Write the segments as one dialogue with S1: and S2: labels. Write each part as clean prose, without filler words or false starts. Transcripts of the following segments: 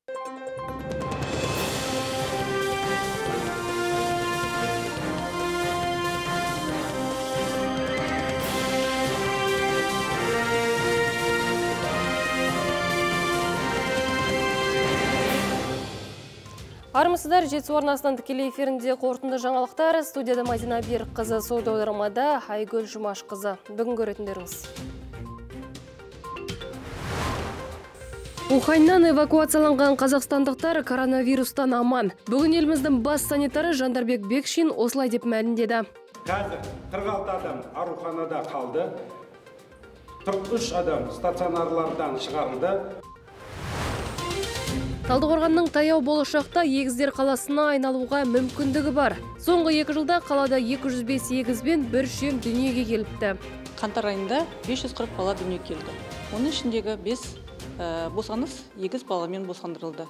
S1: Армысыздар, жетісу арнасынан тікелей эфирінде қорытынды жаңалықтар. Студияда Мадина Берік қызы, саудаудармада Айгүл Жұмаш қызы. Бүгін көретіндеріңіз. Уханьнан эвакуацияланған қазақстандықтар коронавирустан аман. Бүгін еліміздің бас санитары Жандарбек Бекшин осылай деп мәлімдеді.
S2: Қазір 46 адам ауруханада қалды, 43 адам стационарлардан шығарылды.
S1: Талдықорғанның таяу болашақта егіздер қаласына айналуға мүмкіндігі бар. Соңғы 2 жылда қалада 205 егіз бен бір шем дүниеге келіпті.
S3: Қаңтар айында 540 бала дүниеге келді. Оның ішіндегі 5 босаныс егіз баламен босандырылды.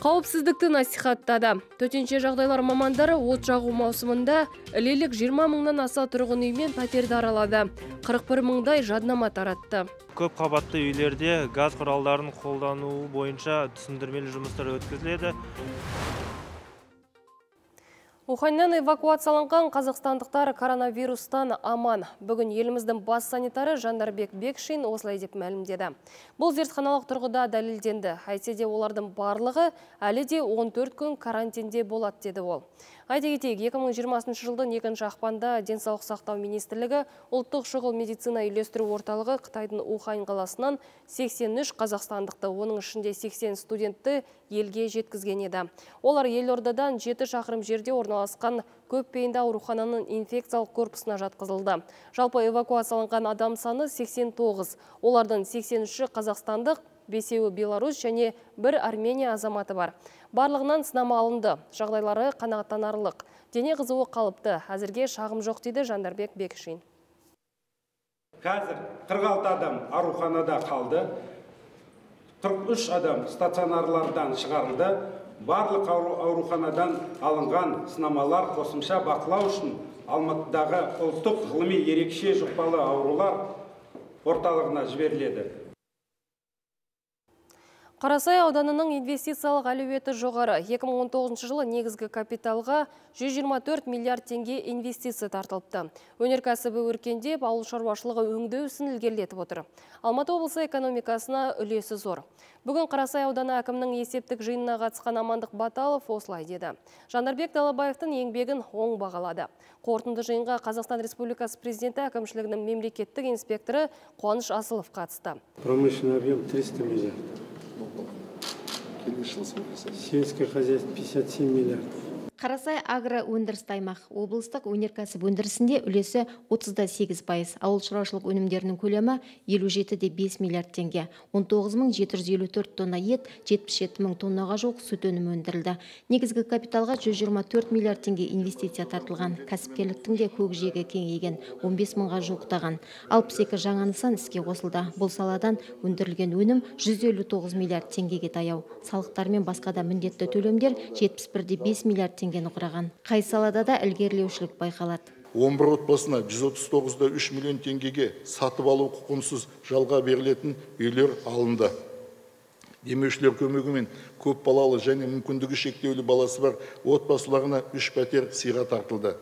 S1: Қауіпсіздікті насихаттады. Төтенше жағдайлар мамандары от жағу маусымында ілелік 20 мыңнан аса тұрғын үй мен пәтерді аралады. 41 мыңдай жаднама таратты.
S4: Көп қабатты үйлерде газ құралдарын қолдануы бойынша түсіндірмелі жұмыстар өткізіледі.
S1: Уханьнан эвакуацияланған қазақстандықтар коронавирустан аман. Бүгін еліміздің бас санитары Жандарбек Бекшин осылай деп мәлімдеді. Бұл зертханалық тұрғыда дәлелденді. Әйтсе де олардың барлығы әлі де 14 күн карантинде болады деді ол. Айта кетейік, 2020 жылдың 2 ақпанда Денсаулық сақтау министрлігі ұлттық шұғыл медицина үйлестіру орталығы Қытайдың Ухань қаласынан 83 қазақстандықты, оның ішінде 80 студентті елге жеткізген еді. Олар елордадан 7 шақырым жерде орналасқан көпбейінді аурухананың инфекциялық корпусына жатқызылды. Жалпы эвакуацияланған адам саны 89. Олардың 83-ші қазақстандық, 5-еуі Беларусь және 1 Армения азаматы бар. Барлығынан сынама алынды. Жағдайлары қанағаттанарлық. Дене қызуы қалыпты. Әзірге шағым жоқ дейді Жандарбек Бекшин.
S2: Қазір 46 адам ауруханада қалды, 43 адам стационарлардан шығарылды. Барлық ауруханадан алынған сынамалар қосымша бақылау үшін Алматыдағы ұлттық ғылыми ерекше жұқпалы аурулар орталығына жіберіледі.
S1: Қарасай ауданының инвестициялық әлеуеті жоғары. 2019 жылы негізгі капиталға 124 миллиард теңге инвестиция тартылыпты. Өнеркәсібі өркендеп, ауыл шаруашылығы өңдеу ісін ілгерілетіп отыр. Алматы облысы экономикасына үлесі зор. Бүгін Қарасай ауданы әкімнің есептік жиынына қатысқан Амандық Баталов осылай деді. Жандарбек Далабаевтың еңбегін оң бағалады. Қорытынды жиынға Қазақстан Республикасы президенті әкімшілігінің мемлекеттік инспекторы Қуаныш Асылов қатысты.
S5: Промышленный объем 300 миллиардов. Сельское хозяйство 57 миллиардов.
S6: Қарасай агро өндірісті аймақ. Облыстық өнеркәсіп өндірісінде үлесі 38%. Ауыл шаруашылық өнімдерінің көлемі 57,5 миллиард теңге. 19.754 тонна ет, 77.000 тоннаға жоқ сүт өнімі өндірілді. Негізгі капиталға 124 миллиард теңге инвестиция тартылған. Кәсіпкерліктің де көкжиегі кеңейген, 15 мыңға жуықтаған. 62 жаңа нысан іске қосылды. Бұл саладан өндірілген өнім 159 миллиард теңгеге таяу. Салықтар мен басқа да міндетті төлемдер 71,5 миллиард теңгені құраған. Қай салада да ілгерілеушілік байқалады.
S7: 11 отбасына 139,3 миллион теңгеге сатып алу құқығынсыз жалға берілетін үйлер алынды. Демеушілер көмегімен көп балалы және мүмкіндігі шектеулі баласы бар отбасыларына 3 пәтер сыйға тартылды.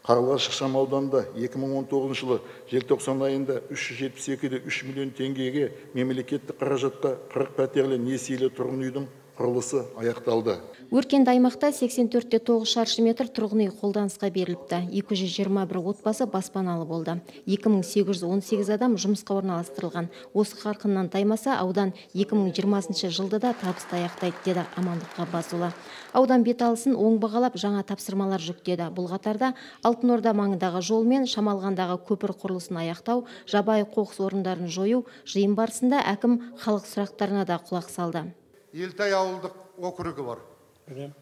S7: Қарлығаш ықшам ауданында 2019 жылы желтоқсан айында 372,3 миллион теңгеге мемлекеттік қаражатқа 40 пәтерлі несиелі тұрғын үйдің құрылысы аяқталды.
S6: Өркенді аймақта 84,9 шаршы метр тұрғын үй қолданысқа беріліпті. 221 отбасы баспаналы болды. 2818 адам жұмысқа орналастырылған. Осы қарқыннан таймаса, аудан 2020 жылды да табысты аяқтайды, деді Амандық Ғаббасұлы. Аудан бет алысын оң бағалап жаңа тапсырмалар жүктеді. Бұл қатарда Алтын Орда маңындағы жол мен Шамалғандағы көпір құрылысын аяқтау, жабайы қоқыс орындарын жою. Жиын барысында әкім халық сұрақтарына да құлақ салды.
S8: Елтай ауылдық округі бар.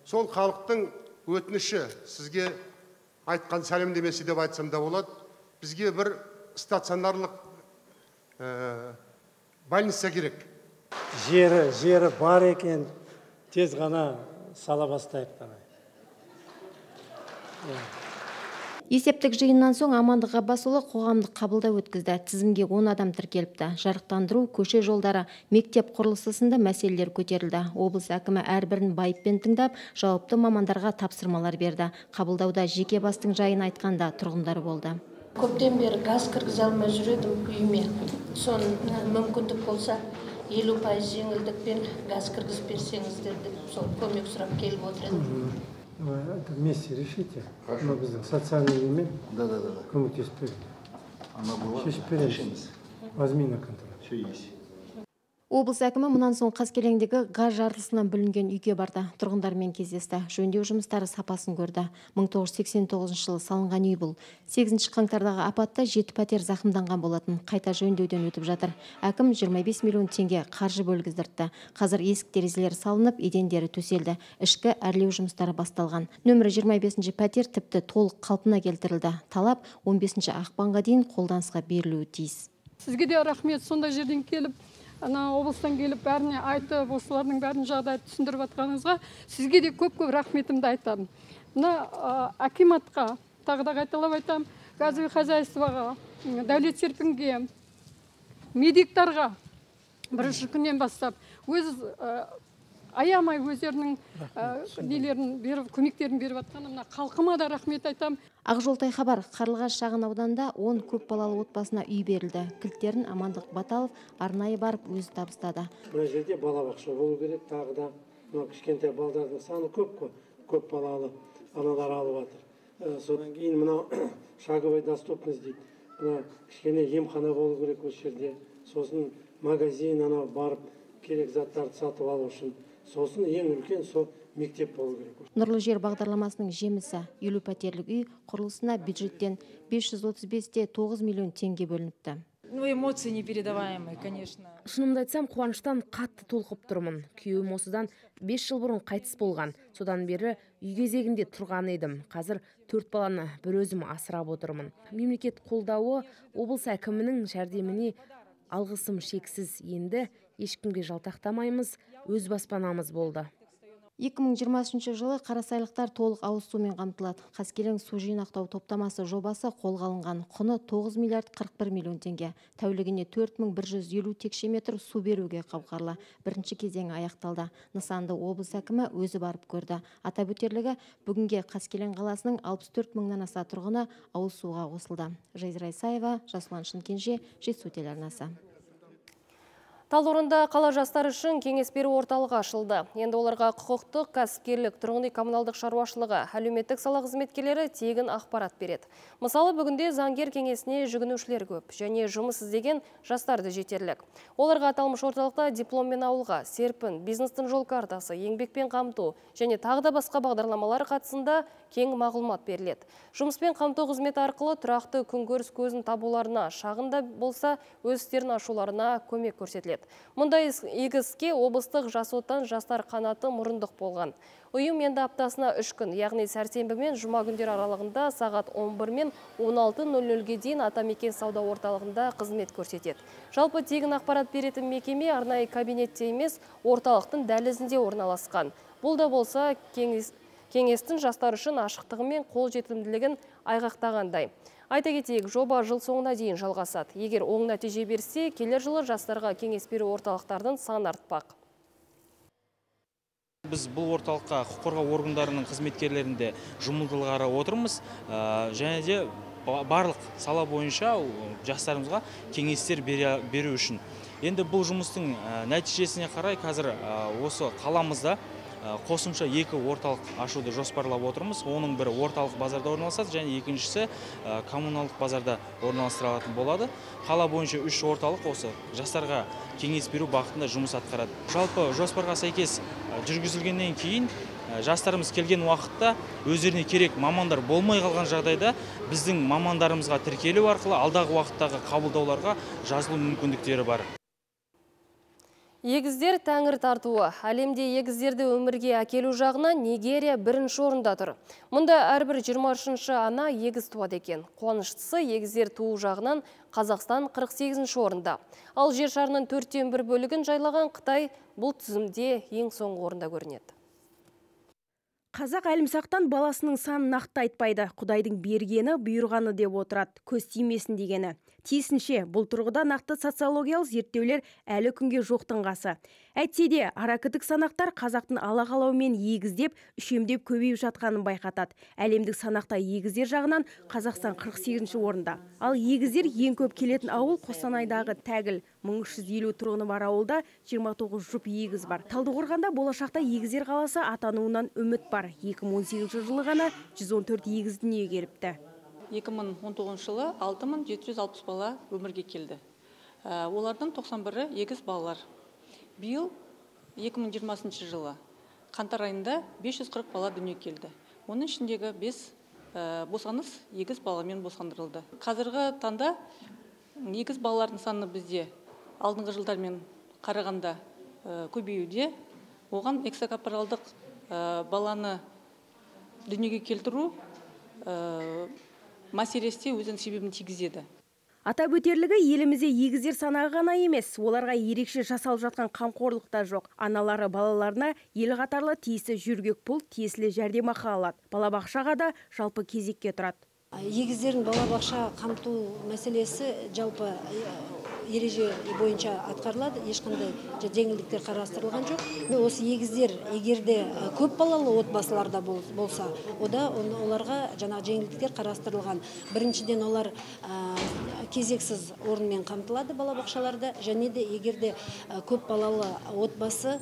S8: Сол халықтың өтініші, сізге айтқан сәлемдемесі деп айтсам да болады. Бізге бір стационарлық больница керек.
S5: Жері бар екен, тез ғана сала бастайық.
S6: Есептік жиыннан соң Амандық Ғаббасұлы қоғамдық қабылдау өткізді. Тізімге 10 адам тіркеліпті. Жарықтандыру, көше жолдары, мектеп құрылысы сынды мәселелер көтерілді. Облыс әкімі әрбірін байыппен тыңдап, жауапты мамандарға тапсырмалар берді. Қабылдауда жеке бастың жайын айтқанда тұрғындар болды.
S9: Көптен бері газ кіргізе алмай жүредім үйіме. Соны мүмкіндік болса 50% жеңілдікпен газ кіргізіп берсеңіздер деп сол көмек сұрап келіп отыр едім.
S5: Это вместе решите. Мы біздің социальный немен көмектесіп береді. Шешіп береміз. Возьми на контроль. Все есть.
S6: Облыс әкімі мұнан соң Қаскелеңдегі газ жарылысынан бүлінген үйге барды. Тұрғындармен кездесті. Жөндеу жұмыстары сапасын көрді. 1989 жылы салынған үй бұл. 8 қаңтардағы апатта 7 пәтер зақымданған болатын. Қайта жөндеуден өтіп жатыр. Әкім 25 миллион теңге қаржы бөлгіздірді. Қазір есік терезелері салынып, едендері төселді. Ішкі әрлеу жұмыстары басталған. Нөмірі 25 пәтер тіпті толық қалпына келтірілді. Талап 15 ақпанға дейін қолданысқа берілуі тиіс.
S10: Сізге де рахмет, сондай жерден келіп, облыстан келіп бәріне айтып, осылардың бәрін жағдайды түсіндіріп атқаныңызға сізге де көп-көп рахметімді айтамын. Мына акиматқа тағы да қайталап айтамын, газовый хозяйствоға, Дәулет Серпінге, медиктарға бірінші күннен бастап өз аямай өздерінің көмектерін беріп атқанына халқыма да рахмет айтамын.
S6: Ақжолтай хабар, Қарлығаш шағын ауданында 10 көп балалы отбасына үй берілді. Кілттерін Амандық Баталов арнайы барып өзі табыстады.
S5: Мына жерде балабақша болу керек, тағы да кішкентай балдардың саны көп балалы аналар алып жатыр. Содан кейін мына шаговой доступность дейді. Мына кішкене емхана болу керек осы жерде. Сосын магазин барып керек заттарды сатып алу үшін. Сосын ең үлкен мектеп болу керек.
S6: Нұрлы жер бағдарламасының жемісі 50 пәтерлік үй құрылысына бюджеттен 535,9 миллион теңге бөлініпті.
S11: Эмоции непередаваемые, конечно.
S12: Шынымды айтсам, қуаныштан қатты толқып тұрмын. Күйеуім осыдан 5 жыл бұрын қайтыс болған. Содан бері үй кезегінде тұрған едім. Қазір 4 баланы бір өзім асырап отырмын. Мемлекет қолдауы, облыс әкімінің жәрдеміне алғысым шексіз. Енді ешкімге жалтақтамаймыз, өз баспанамыз болды.
S6: 2020 жылы қарасайлықтар толық ауыз сумен қамтылады. Қаскелең су жинақтау топтамасы жобасы қолға алынған. Құны 9 миллиард 41 миллион теңге. Тәулігіне 4150 текше метр су беруге қауқарлы. Бірінші кезеңі аяқталды. Нысанды облыс әкімі өзі барып көрді. Атап өтерлігі, бүгінге Қаскелең қаласының 64 мыңнан аса тұрғыны ауыз суға қосылды. Жайзра Исаева, Жасұлан Шынкенже, Жетісу телеарнасы.
S1: Талдықорғанда қала жастары үшін кеңес беру орталығы ашылды. Енді оларға құқықтық, кәсіпкерлік, тұрғын үй коммуналдық шаруашылығы, әлеуметтік сала қызметкерлері тегін ақпарат береді. Мысалы, бүгінде заңгер кеңесіне жүгінушілер көп және жұмыс іздеген жастарды жетерлік. Оларға аталмыш орталықта дипломмен ауылға, серпін, бизнестің жол картасы, еңбекпен қамту және тағы да басқа бағдарламалар қатысында кең мағлұмат беріледі. Жұмыспен қамту қызметі арқылы тұрақты күнкөріс көзін табуларына, шағында болса өз істерін ашуларына көмек көрсетіледі. Мұндай игі іске облыстық жас отан жастар қанаты мұрындық болған. Ұйым енді аптасына 3 күн, яғни сәрсенбі мен жұма күндер аралығында сағат 11 мен 16:00-ге дейін Атамекен сауда орталығында қызмет көрсетеді. Жалпы тегін ақпарат беретін мекеме арнайы кабинетте емес, орталықтың дәлізінде орналасқан. Бұл да болса кеңестің жастар үшін ашықтығы мен қол жетімділігін айғақтағандай. Айта кетейік, жоба жыл соңына дейін жалғасады. Егер оң нәтиже берсе, келер жылы жастарға кеңес беру орталықтардың саны артпақ.
S13: Біз бұл орталыққа құқық қорғау органдарының қызметкерлерінде жұмылдырылғалы отырмыз. Және де барлық сала бойынша жастарымызға кеңестер беру үшін. Енді бұл жұмыстың нәтижесіне қарай қазір осы қаламызда қосымша 2 орталық ашуды жоспарлап отырмыз. Оның бірі орталық базарда орналасады, және екіншісі коммуналдық базарда орналастырылатын болады. Қала бойынша 3 орталық осы жастарға кеңес беру бағытында жұмыс атқарады. Жалпы жоспарға сәйкес жүргізілгеннен кейін жастарымыз келген уақытта өздеріне керек мамандар болмай қалған жағдайда біздің мамандарымызға тіркелу арқылы алдағы уақыттағы қабылдауларға жазылу мүмкіндіктері бар.
S1: Егіздер тәңір тартуы. Әлемде егіздерді өмірге әкелу жағынан Нигерия бірінші орында тұр. Мұнда әрбір 23-ші ана егіз туады екен. Қуаныштысы, егіздер туу жағынан Қазақстан 48-ші орында. Ал жер шарының 1/4 бөлігін жайлаған Қытай бұл тізімде ең соңғы орында көрінеді.
S14: Қазақ әлімсақтан баласының санын нақты айтпайды. Құдайдың бергені, бұйырғаны деп отырады. Көз тимесін дегені. Тиісінше, бұл тұрғыда нақты социологиялық зерттеулер әлі күнге жоқтың қасы. Әйтсе де, аракідік санақтар қазақтың алақалаумен егіздеп, үшемдеп көбейіп жатқанын байқатады. Әлемдік санақта егіздер жағынан Қазақстан 48-ші орында. Ал егіздер ең көп келетін ауыл Қостанайдағы Тәгіл. 1350 тұрғыны бар ауылда 29 жұп егіз бар. Талдықорғанда болашақта егіздер қаласы атануынан үміт бар. 2018 жылы ғана 114 егіз дүниеге келіпті.
S3: 2019 жылы 6760 бала өмірге келді. Олардың 91-і егіз балалар. Биыл 2020 жылы қаңтар айында 540 бала дүниеге келді. Оның ішіндегі 5 босаныс егіз баламен босандырылды. Қазіргі таңда егіз балалардың саны бізде алдыңғы жылдармен қарағанда көбеюде. Оған экстракорпоралдық баланы дүниеге келтіру мәселесі өзінің себебін тигізеді.
S14: Атап өтерлігі, елімізде егіздер санағы ғана емес, оларға ерекше жасалып жатқан қамқорлық та жоқ. Аналары балаларына ел қатарлы тиісті жүргек пұл, тиесілі жәрдемақы алады. Балабақшаға да жалпы кезекке тұрады.
S15: Егіздердің балабақша қамту мәселесі жалпы ереже бойынша атқарылады, ешқандай жеңілдіктер қарастырылған жоқ. Осы егіздер егерде көп балалы отбасыларда болса, оларға жаңа жеңілдіктер қарастырылған. Біріншіден олар кезексіз орынмен қамтылады балабақшаларда, және де егерде көп балалы отбасы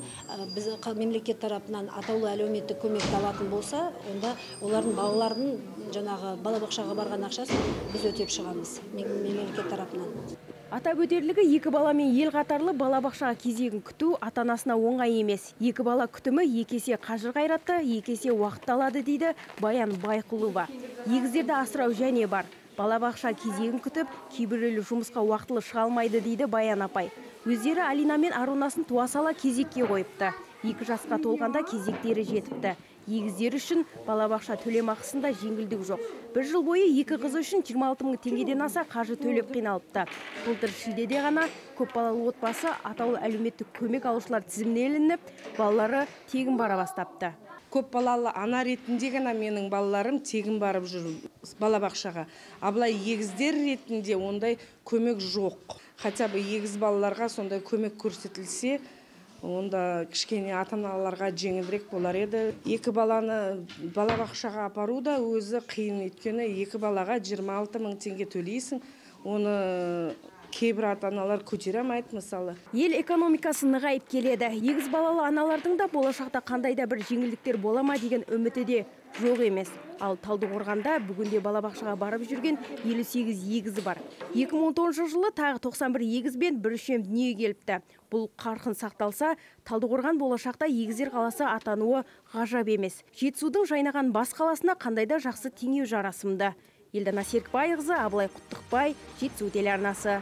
S15: біз мемлекет тарапынан атаулы әлеуметтік көмекті алатын болса, онда олардың балалардың жаңағы балабақшаға барған ақшасын біз өтеп шығамыз мемлекет тарапынан.
S14: Атап өтерлігі, 2 баламен ел қатарлы балабақшаға кезегін күту ата-анасына оңай емес. 2 бала күтімі екесе қажыр қайратты, екесе уақыт алады дейді Баян Байқұлова. Егіздерді асырау және бар. Балабақша кезегін күтіп, кейбіреулер жұмысқа уақытылы шыға алмайды дейді Баян апай. Өздері Алина мен Арунасын туа сала кезекке қойыпты. 2 жасқа толғанда кезектері жетіпті. Егіздер үшін балабақша төлемақысында жеңілдік жоқ. Бір жыл бойы 2 қызы үшін 26 000 теңгеден аса қаржы төлеп қиналыпты. Былтыр шілдеде ғана көп балалы отбасы атаулы әлеуметтік көмек алушылар тізіміне ілініп, балалары тегін бара бастапты.
S16: Көп балалы ана ретінде ғана менің балаларым тегін барып жүр балабақшаға. Абылай егіздер ретінде ондай көмек жоқ. Хотя бы егіз балаларға сондай көмек көрсетілсе, онда кішкене ата-аналарға жеңілдірек болар еді. 2 баланы балабақшаға апару да өзі қиын, өйткені 2 балаға 26 000 теңге төлейсің. Оны кейбір ата-аналар көтере алмайды мысалы.
S14: Ел экономикасы нығайып келеді. Егіз балалы аналардың да болашақта қандай да бір жеңілдіктер бола ма деген үміті де жоқ емес. Ал Талдықорғанда бүгінде балабақшаға барып жүрген 58 егізі бар. 2010 жылы тағы 91 егіз бен бір үшем дүниеге келіпті. Бұл қарқын сақталса, Талдықорған болашақта егіздер қаласы атануы ғажап емес. Жетісудың жайнаған бас қаласына қандай да жақсы теңеу жарасымды. Елдана Серікбайқызы, Абылай Құттықбай, Жетісу телеарнасы.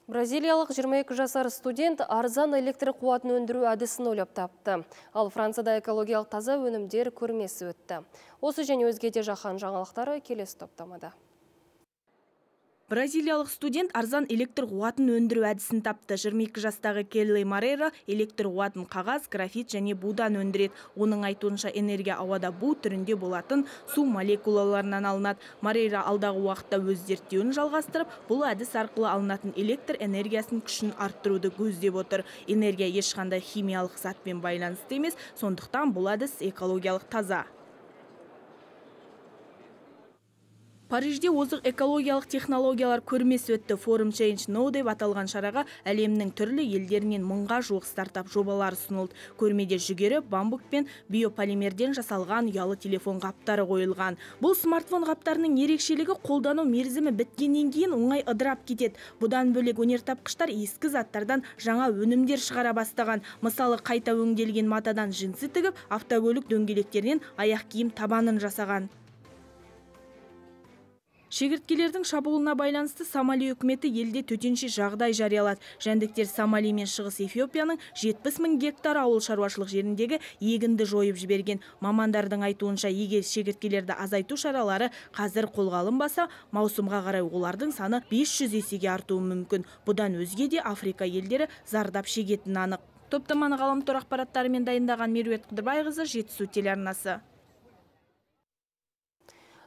S1: Бразилиялық 22 жасар студент арзан электр қуатын өндіру әдісін ойлап тапты. Ал Францияда экологиялық таза өнімдер көрмесі өтті. Осы және өзге де жаһан жаңалықтары келесі топтамада.
S17: Бразилиялық студент арзан электр қуатын өндіру әдісін тапты. 22 жастағы Келли Марейра электр қуатын қағаз, графит және будан өндіреді. Оның айтуынша энергия ауада бу түрінде болатын су молекулаларынан алынады. Марейра алдағы уақытта өз зерттеуін жалғастырып, бұл әдіс арқылы алынатын электр энергиясын күшін арттыруды көздеп отыр. Энергия ешқандай химиялық затпен байланысты емес, сондықтан бұл әдіс экологиялық таза. Парижде озық экологиялық технологиялар көрмесі өтті. Forum Change Now деп аталған шараға әлемнің түрлі елдерінен 1000-ға жуық стартап жобалар ұсынылды. Көрмеде жүгері, бамбук пен биополимерден жасалған ұялы телефон қаптары қойылған. Бұл смартфон қаптарының ерекшелігі қолдану мерзімі біткеннен кейін оңай ыдырап кетеді. Бұдан бөлек өнертапқыштар ескі заттардан жаңа өнімдер шығара бастаған. Мысалы, қайта өңделген матадан джинсы тігіп, автокөлік дөңгелектерінен аяқ киім табанын жасаған. Шегірткелердің шабуылына байланысты Сомали үкіметі елде төтенше жағдай жариялады. Жәндіктер Сомали мен Шығыс Эфиопияның 70 000 гектар ауыл шаруашылық жеріндегі егінді жойып жіберген. Мамандардың айтуынша, егер шегірткелерді азайту шаралары қазір қолға алынбаса, маусымға қарай олардың саны 500 есеге артуы мүмкін. Бұдан өзге де Африка елдері зардап шегетіні анық. Топтаманы ғаламтор ақпараттарымен дайындаған Меруерт Қыдырбайқызы, Жетісу телеарнасы.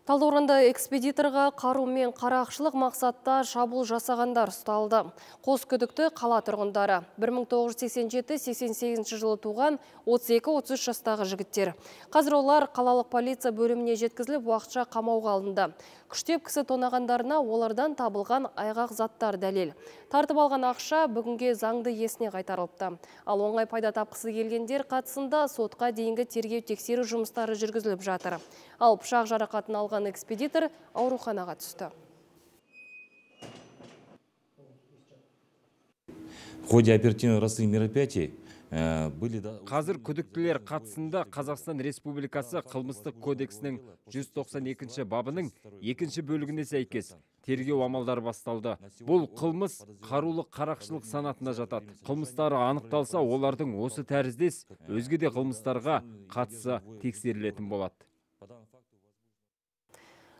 S1: Талдықорғанда экспедиторға қару мен қарақшылық мақсатта шабуыл жасағандар ұсталды. Қос күдікті қала тұрғындары. 1987-88 жылы туған 32-33 жастағы жігіттер. Қазір олар қалалық полиция бөліміне жеткізіліп, уақытша қамауға алынды. Күштеп кісі тонағандарына олардан табылған айғақ заттар дәлел. Тартып алған ақша бүгінге заңды иесіне қайтарылыпты. Ал оңай пайда тапқысы келгендер қатысында сотқа дейінгі тергеу тексеру жұмыстары жүргізіліп жатыр. Ал пышақ жарақатын алған экспедитор ауруханаға түсті.
S18: В ходе оперативно-розыскных мероприятий
S19: Қазір күдіктілер қатысында Қазақстан Республикасы қылмыстық кодексінің 192 бабының 2 бөлігіне сәйкес тергеу амалдары басталды. Бұл қылмыс қарулы қарақшылық санатына жатады. Қылмыстары анықталса, олардың осы тәріздес өзге де қылмыстарға қатысы тексерілетін болады.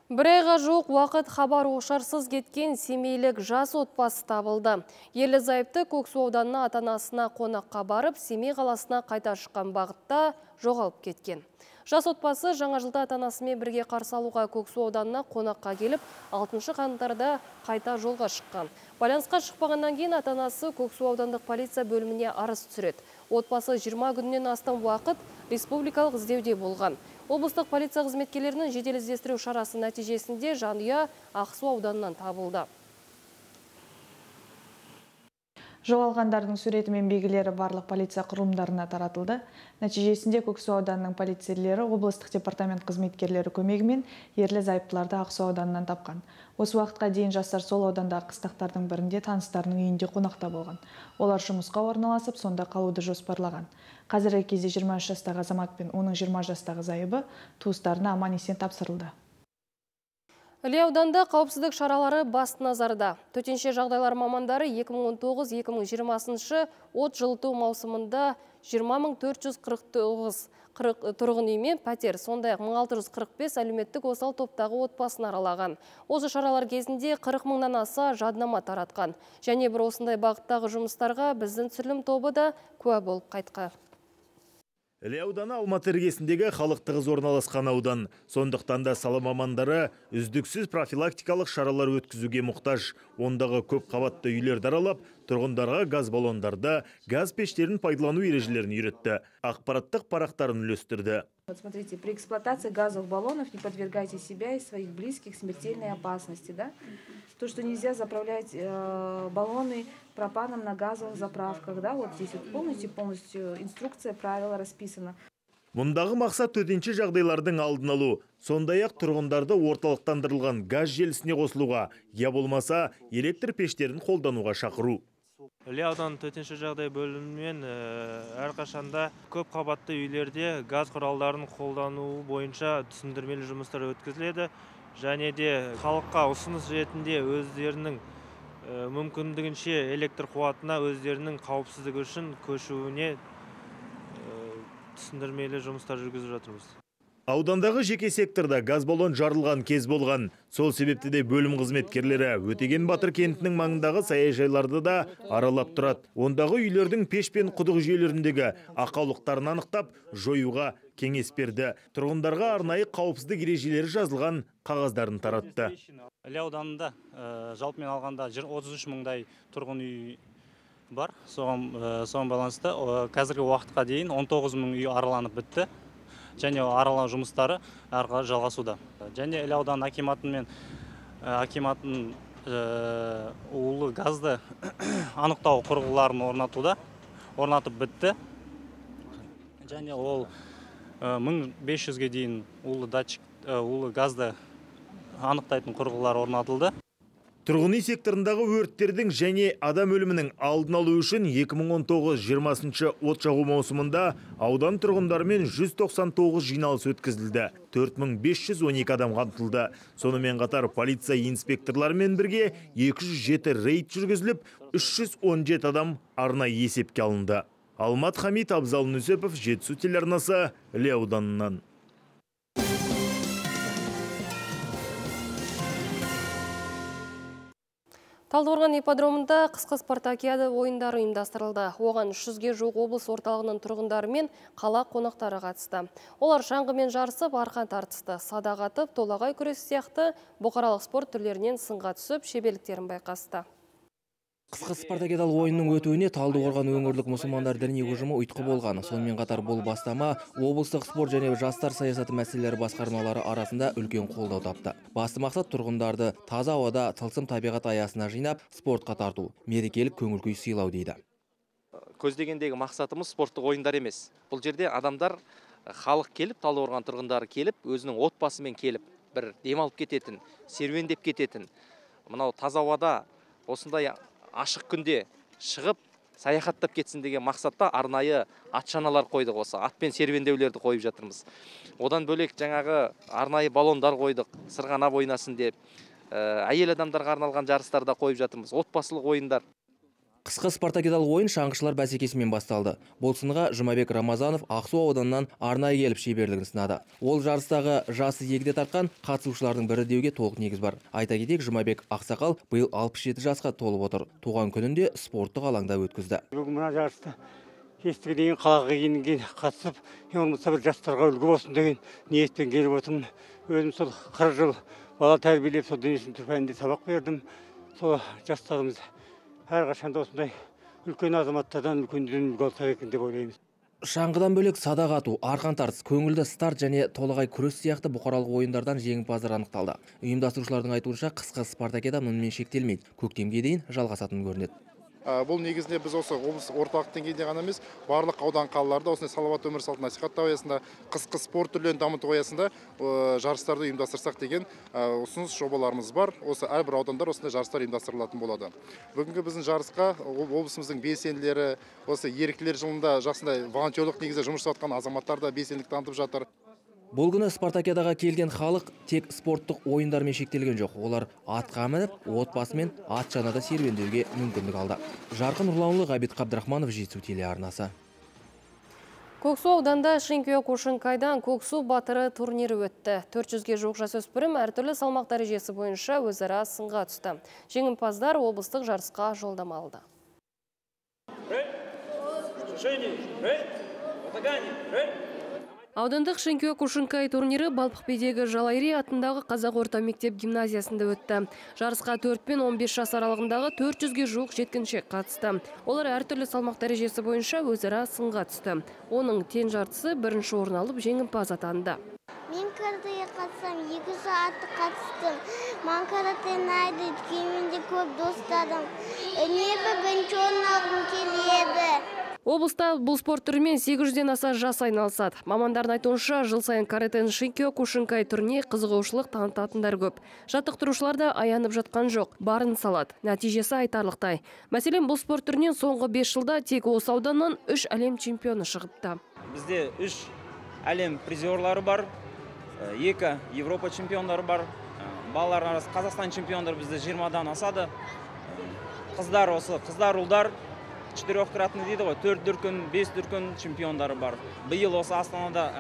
S1: Бір айға жоқ уақыт хабар ошарсыз кеткен семейлік жас отбасы табылды. Ерлі зайыпты Көксу ауданына ата-анасына қонаққа барып, Семей қаласына қайта шыққан бағытта жоғалып кеткен. Жас отбасы жаңа жылда ата-анасымен бірге қарсы алуға Көксу ауданына қонаққа келіп, 6 қаңтарда қайта жолға шыққан. Байланысқа шықпағаннан кейін ата-анасы Көксу аудандық полиция бөліміне арыз түсіреді. Отбасы 20 күннен астам уақыт республикалық іздеуде болған. Облыстық полиция қызметкерлерінің жедел іздестіру шарасы нәтижесінде жанұя Ақсу ауданынан табылды.
S20: Жоғалғандардың суреті мен белгілері барлық полиция құрылымдарына таратылды. Нәтижесінде Көксу ауданының полицейлері облыстық департамент қызметкерлері көмегімен ерлі зайыптыларды Ақсу ауданынан тапқан. Осы уақытқа дейін жастар сол аудандағы қыстақтардың бірінде таныстарының үйінде қонақта болған. Олар жұмысқа орналасып, сонда қалуды жоспарлаған. Қазіргі кезде 23 жастағы азамат пен оның 20 жастағы зайыбы туыстарына аман-есен тапсырылды.
S1: Іле ауданда қауіпсіздік шаралары басты назарда. Төтенше жағдайлар мамандары 2019-2020 от жылыту маусымында 20.449 тұрғын үй мен пәтер, сондай 1645 әлеуметтік осал топтағы отбасын аралаған. Осы шаралар кезінде 40 мыңнан аса жаднама таратқан. Және бір осындай бағыттағы жұмыстарға біздің түсірілім тобы да куә болып қайтқан.
S21: Іле ауданы Алматы іргесіндегі халық тығыз орналасқан аудан. Сондықтан да сала мамандары үздіксіз профилактикалық шаралар өткізуге мұқтаж. Ондағы көп қабатты үйлерді аралап, тұрғындарға газ баллондарды, газ пештерін пайдалану ережелерін үйретті. Ақпараттық парақтарын үлестірді.
S22: Вот смотрите, при эксплуатации газовых баллонов не подвергайте себя и своих близких смертельной опасности, да? То, что нельзя заправлять баллоны пропаном на газовых заправках, да? Вот здесь вот полностью инструкция, правила расписана.
S21: Мұндағы мақсат төтенше жағдайлардың алдын алу, сондай-ақ тұрғындарды орталықтандырылған газ желісіне қосылуға, я болмаса электр пештерін қолдануға шақыру.
S4: Іле ауданы төтенше жағдай бөлімімен әрқашанда көп қабатты үйлерде газ құралдарын қолдану бойынша түсіндірмелі жұмыстар өткізіледі. Және де халыққа ұсыныс ретінде өздерінің мүмкіндігінше электр қуатына өздерінің қауіпсіздігі үшін көшуіне түсіндірмелі жұмыстар жүргізіп жатырмыз.
S21: Аудандағы жеке секторда газ баллон жарылған кез болған. Сол себепті де бөлім қызметкерлері Өтеген Батыр кентінің маңындағы саяжайларды да аралап тұрады. Ондағы үйлердің пеш пен құдық жүйелеріндегі ақаулықтарын анықтап, жоюға кеңес берді. Тұрғындарға арнайы қауіпсіздік ережелері жазылған қағаздарын таратты.
S23: Іле ауданында жалпымен алғанда 33 мыңдай тұрғын үй бар. Соған байланысты қазіргі уақытқа дейін 19 мың үй араланып бітті. Және аралау жұмыстары әрі жалғасуда. Және Іле ауданы акиматын улы газды анықтау құрылғыларын орнатып бітті. Және ол 1500-ге дейін улы газды анықтайтын құрылғылар орнатылды.
S21: Тұрғын үй секторындағы өрттердің және адам өлімінің алдын алу үшін 2019-20 от жағу маусымында аудан тұрғындарымен 199 жиналыс өткізілді. 4512 адам қамтылды. Сонымен қатар полиция инспекторларымен бірге 207 рейд жүргізіліп, 317 адам арнайы есепке алынды. Алмат Хамит, Абзал Нүсепов, Жетісу телеарнасы, Іле ауданынан.
S1: Талдықорған ипподромында қысқы спартакиада ойындары ұйымдастырылды. Оған 300-ге жуық облыс орталығының тұрғындары мен қала қонақтары қатысты. Олар шаңғымен жарысып, арқан тартысты, садақ атып, толағай күресі сияқты бұқаралық спорт түрлерінен сынға түсіп, шеберліктерін байқасты.
S2: Қысқы спартакиадалық ойынның өтуіне Талдықорған өңірлік мұсылмандар діни ұжымы ұйытқы болған. Сонымен қатар бұл бастама облыстық спорт және жастар саясаты мәселелері басқармалары арасында үлкен қолдау тапты. Басты мақсат тұрғындарды таза ауада тылсым табиғат аясына жинап, спортқа тарту, мерекелік көңіл-күй сыйлау дейді.
S7: Көздегендегі мақсатымыз спорттық ойындар емес. Бұл жерде адамдар, халық келіп, Талдықорған тұрғындары келіп, өзінің отбасымен келіп, бір демалып кететін, серуендеп кететін, мынау таза ауада осындай ашық күнде шығып, саяхаттап кетсін деген мақсатта арнайы атшаналар қойдық, осы атпен серуендеулерді қойып жатырмыз. Одан бөлек жаңағы арнайы баллондар қойдық, сырғанап ойнасын деп, әйел адамдарға арналған жарыстарда қойып жатырмыз, отбасылық ойындар.
S2: Қысқы спартакиадалық ойын шаңғышылар бәсекесімен басталды. Бұл сынға Жұмабек Рамазанов Ақсу ауданынан арнайы келіп шеберлігін сынады. Ол жарыстағы жасы егде тартқан қатысушылардың бірі деуге толық негіз бар. Айта кетейік, Жұмабек Ақсақал биыл 67 жасқа толып отыр. Туған күнінде спорттық алаңда өткізді.
S8: Бүгін мына жарысты кестіге дейін қалаға кейінге қатысып, болмаса бір жастарға үлгі болсын деген ниетпен келіп отырмын. Өзім сол 40 жыл бала тәрбиелеп, сол дене шынықтыру пәнінде сабақ бердім. Сол жастарымыз әрқашанда осындай үлкен азаматтардан үлкендерден үлгі алса екен деп ойлаймыз.
S2: Шаңғыдан бөлек садақ ату, арқан тартыс, көңілді старт және толағай күрес сияқты бұқаралық ойындардан жеңімпаздар анықталды. Ұйымдастырушылардың айтуынша қысқы спартакиада мұнымен шектелмейді. Көктемге дейін жалғасатын көрінеді.
S24: Бұл негізінде біз осы облыс орталық деңгейде ғана емес, барлық аудан қалаларда осындай салауатты өмір салтын насихаттау аясында, қысқы спорт түрлерін дамыту аясында жарыстарды ұйымдастырсақ деген ұсыныс жобаларымыз бар. Осы әрбір аудандар осындай жарыстар ұйымдастырылатын болады. Бүгінгі біздің жарысқа облысымыздың белсенділері, осы еріктілер жылында жақсындай волонтерлық негізде жұмыс жасап жатқан азаматтар да белсенділік танытып жатыр.
S2: Бұл күні спартакиадаға келген халық тек спорттық ойындармен шектелген жоқ. Олар атқа мініп, отбасымен атшанада серуендеуге мүмкіндік алды. Жарқын Нұрланұлы, Ғабит Қабдрахманов, Жетісу телеарнасы.
S1: Көксу ауданда Шыңкөе Кушинкайдан Көксу батыры турнирі өтті. 400-ге жуық жасөспірім әртүрлі салмақ дәрежесі бойынша өзара сынға түсті. Жеңімпаздар облыстық жарысқа жолдама алды. Аудандық Шыңкөе Кушинкай турнирі Балпықбедегі Жалайри атындағы Қазақ орта мектеп гимназиясында өтті. Жарысқа 4 пен 15 жас аралығындағы 400-ге жуық жеткіншек қатысты. Олар әртүрлі салмақ дәрежесі бойынша өзара сынға түсті. Оның тең жартысы бірінші орын алып жеңімпаз атанды.
S25: Мен каратеге қатысам, 2 сағатты қатыстым. Мен каратені айды, кейменде көп достадым. Небі бірінші орын алғым келеді.
S1: Облыста бұл спорт түрімен 800-ден аса жас айналысады. Мамандардың айтуынша, жыл сайын каратен Шыңкөе Кушинкай түріне қызығушылық танытатындар көп. Жаттықтырушылар да аянып жатқан жоқ, барын салады. Нәтижесі айтарлықтай. Мәселен, бұл спорт түрінен соңғы 5 жылда тек осы ауданнан 3 әлем чемпионы шығыпты.
S26: Бізде 3 әлем призерлары бар, 2 Европа чемпиондары бар. Балалар арасы Қазақстан чемпиондары бізде 20-дан асады. Қыздар осы, қыздар ұлдар 4-кратный дейді ғой, 4 дүркін, 5 дүркін чемпиондары бар. Биыл осы Астанада,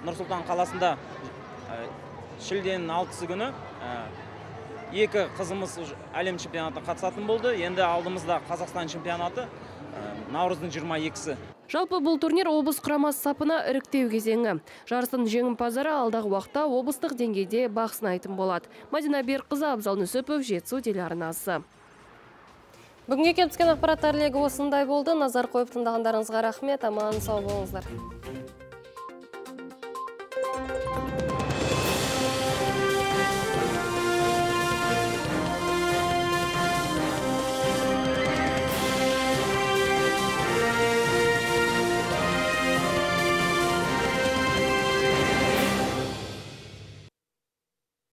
S26: Нұрсұлтан қаласында шілденің 6-сы күні 2 қызымыз әлем чемпионаты қатысатын болды. Енді алдымызда Қазақстан чемпионаты наурыздың 22-сі.
S1: Жалпы бұл турнир облыс құрамасы сапына іріктеу кезеңі. Жарыстың жеңімпаздары алдағы уақытта облыстық деңгейде бақ сынайтын болады. Мадина Берқызы, Абзал Нүсепов, Жетісу телеарнасы. Бүгінге келіп түскен ақпараттар легі осындай болды. Назар қойып тыңдағандарыңызға рахмет, аман сау болыңыздар.